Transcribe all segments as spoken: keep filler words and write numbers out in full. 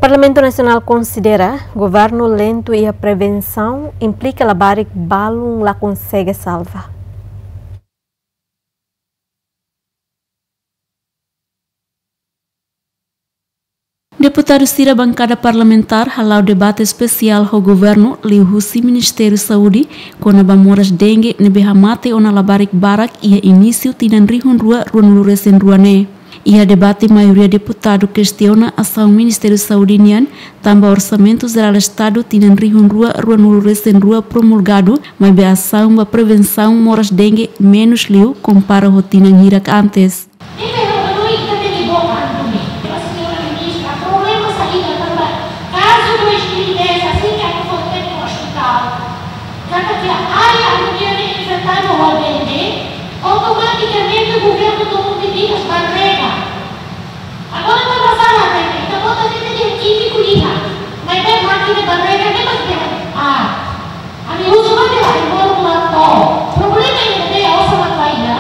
Parlamentu Nasionál konsidera governu lentu iha prevensaun implika labarik balun la konsege salva. Deputadu sira bankada parlamentár hala'o debate espesiál ho governu liuhusi Ministériu Saúde kona-ba moras dengue ne'ebé hamate ona labarik barak iha inísiu tinan rihun rua ruanulu resin rua ne'e. Iha debate maioria deputadu kestiona asaun Ministériu Saúde nian tanba Orsamentu Jerál Estadu tinan rihun rua ruanulu resin rua promulgadu, maibé asaun ba prevensaun moras dengue menus liu kompara ho tinan hirak antes. Ita ya, ita tenke boka anu ne'e. Señora Ministra, problema saida tanba kazu dois mil e dez, asin ke aku foi tempu hospital, katak iha área anu ne'e infetadu ho dengue, automatikamente governu toma medidas barrega. Agora ita bá sala, ita bota de'it iha kímiku iha, maibé mákina barrega ne'e mak iha. Ah, ami uza mak iha, ami moru mak to'o. Problema ida-ne'e osan mak bainhira.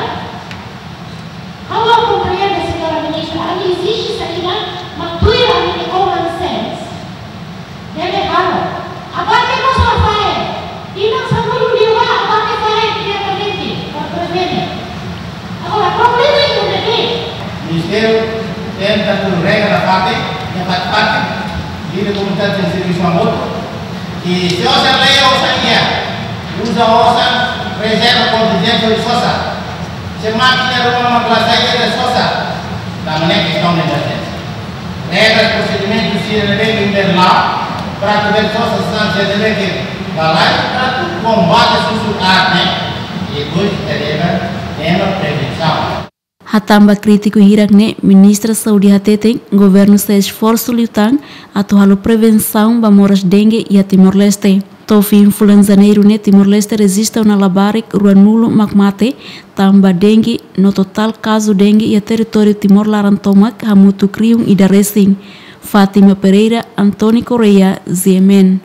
Ha'u la komprende, señora Ministra, ami ezije saida, mak tuir ami-nia common sense. Deve halo. Abate mós la fahe. Tinan sanulu liubá abate fahe diretamente para prevene. Agora, problema ida-ne'e. Ministériu tenta tuir regra nafatin, nafatin, líder komunitáriu servisu hamutuk. I se osan lei osan iha, uza osan rezerva kontinjente sosa. Se mákina ruma mak la sai iha sosa, la mane kestaun de emerjénsia. Regras, prosedimentu sira ne'ebé ke iha lei, para atu bele sosa sasán sira ne'ebé ke balai, para atu kombate susar ne'e, i depois ita deve ema prevensaun. Hatán ba krítiku hirak ne'e, Ministra Saúde hateten governu sei esforsu liután atu halo prevensaun ba moras dengue iha Timor-Leste. To'o fin fulan Janeiru ne'e Timor-Leste rejista ona labarik ruanulu mak mate tanba dengue, no totál kazu dengue iha territóriu Timor laran tomak hamutuk rihun ida resin. Fátima Pereira, António Correia, G M N.